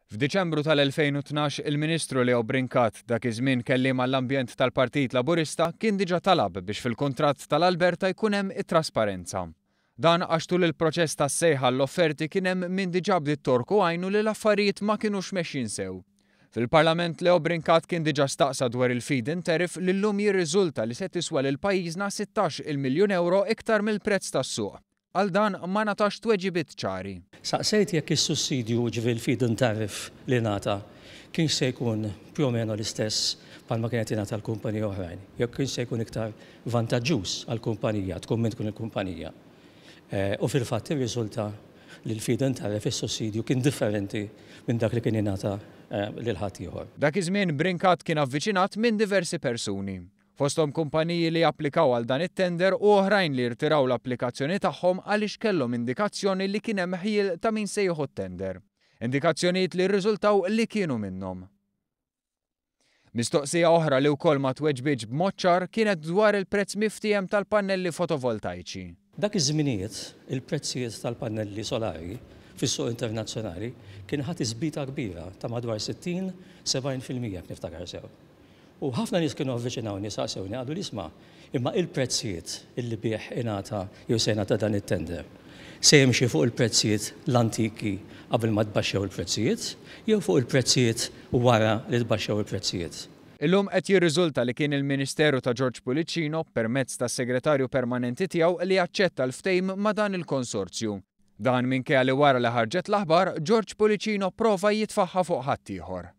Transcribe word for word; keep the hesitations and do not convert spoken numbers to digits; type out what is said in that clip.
F'Diċembru tal-elfejn u tnax il-Ministru Leo Brincat, dak iż-żmien kelliem għall-ambjent tal-Partit Laburista, kien diġà talab biex fil-kuntratt tal-Alberta jkun hemm it-trasparenza. Dan għax tul il-proċess tas-sejħa l-offerti kien hemm min diġà bdiet torku għajnu li l-affarijiet ma kinux mexjin sew. Fil-Parlament Leo Brincat kien diġà staqsa dwar il-feed-in tariff li llum jirriżulta li se tiswa lil pajjiżna sittax il miljun euro iktar mill-prezz tas-suq. Għal dan ma ngħatax tweġibiet ċari. Saqsejt jekk is-sussidju, ġifieri l-feed-in tariff li ngħata, kienx se jkun più o meno l-istess bħalma kienet jingħata l-kumpaniji oħrajn, jekk kienx se jkun iktar vantaġġuż għall-kumpanija, tkun min tkun il-kumpanija. Eh, u fil-fatt irriżulta li l-feed-in tariff, is-sussidju, kien differenti minn dak li kien jingħata, eh, lil ħadd ieħor. Dak iż-żmien Brincat kien avviċinat minn diversi persuni. Fosthom kumpaniji li applikaw għal dan it-tender u oħrajn li rtiraw l-applikazzjoni tagħhom għaliex kellhom indikazzjoni li kien hemm ħjiel ta' min se jieħu t-tender. Indikazzjonijiet li rriżultaw li kienu minnhom. Mistoqsija oħra li wkoll ma tweġbitx b'mod ċar kienet dwar il-prezz miftiehem tal-pannelli fotovoltaiċi. Dak iż-żminijiet, il-prezzijiet tal-pannelli solari fis-suq internazzjonali kien ħadd iżbita kbira ta' madwar sittin sebgħin fil-mija jekk niftakar sew. U ħafna nies kienu avviċinawni, saqsewni, qalu li isma', imma il-prezzijiet illi bih ingħata jew se jingħata dan it-tender se jimxi fuq il-prezzijiet l-antiki qabel ma tbaxxew il-prezzijiet jew fuq il-prezzijiet wara li tbaxxew il-prezzijiet. Illum qed jirriżulta li kien il-Ministeru ta' George Pullicino permezz tas-segretarju permanenti tiegħu li aċċetta l-ftehim ma' dan il-konsorzju. Dan minkejja li wara li ħarġet l-aħbar, George Pullicino prova jitfaħħa fuq ħaddieħor.